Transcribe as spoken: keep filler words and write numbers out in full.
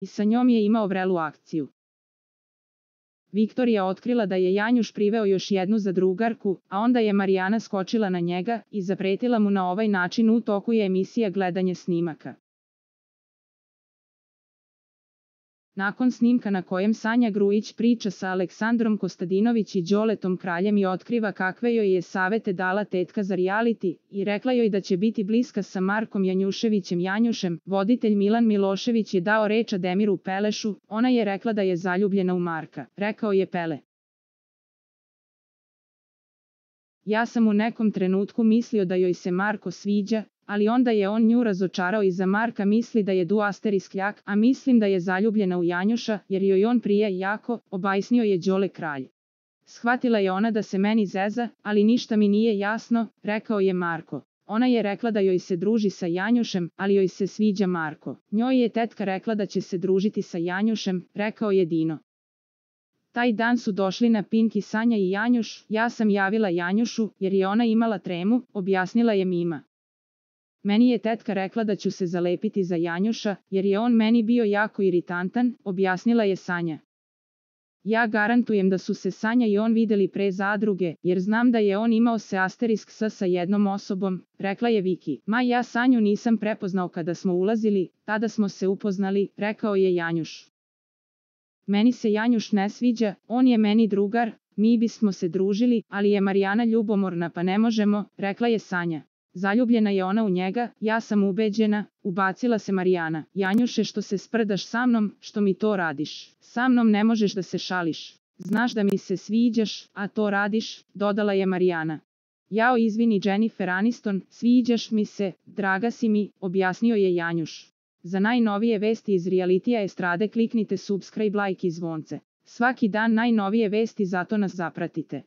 i sa njom je imao vrelu akciju. Viktorija otkrila da je Janjuš priveo još jednu zadrugarku, a onda je Marijana skočila na njega i zapretila mu na ovaj način u toku je emisija gledanje snimaka. Nakon snimka na kojem Sanja Grujić priča sa Aleksandrom Kostadinović i Đoletom Kraljem i otkriva kakve joj je savete dala tetka za reality i rekla joj da će biti bliska sa Markom Janjuševićem Janjušem, voditelj Milan Milošević je dao reč Ademiru Pelešu, ona je rekla da je zaljubljena u Marka, rekao je Pele. Ja sam u nekom trenutku mislio da joj se Marko sviđa, ali onda je on nju razočarao i za Marka misli da je duaster iskljak, a mislim da je zaljubljena u Janjuša, jer joj on prije jako, obajsnio je Đole Kralj. Shvatila je ona da se meni zeza, ali ništa mi nije jasno, rekao je Marko. Ona je rekla da joj se druži sa Janjušem, ali joj se sviđa Marko. Njoj je tetka rekla da će se družiti sa Janjušem, rekao je Dino. Taj dan su došli na Pink i Sanja i Janjuš, ja sam javila Janjušu, jer je ona imala tremu, objasnila je Mima. Meni je tetka rekla da ću se zalepiti za Janjuša, jer je on meni bio jako iritantan, objasnila je Sanja. Ja garantujem da su se Sanja i on videli pre zadruge, jer znam da je on imao se asterisk s sa jednom osobom, rekla je Viki. Ma ja Sanju nisam prepoznao kada smo ulazili, tada smo se upoznali, rekao je Janjuš. Meni se Janjuš ne sviđa, on je meni drugar, mi bismo se družili, ali je Marijana ljubomorna pa ne možemo, rekla je Sanja. Zaljubljena je ona u njega, ja sam ubeđena, ubacila se Marijana. Janjuše, što se sprdaš sa mnom, što mi to radiš? Sa mnom ne možeš da se šališ. Znaš da mi se sviđaš, a to radiš, dodala je Marijana. Jao, izvini Jennifer Aniston, sviđaš mi se, draga si mi, objasnio je Janjuš. Za najnovije vesti iz realitija estrade kliknite subscribe, like i zvonce. Svaki dan najnovije vesti, zato nas zapratite.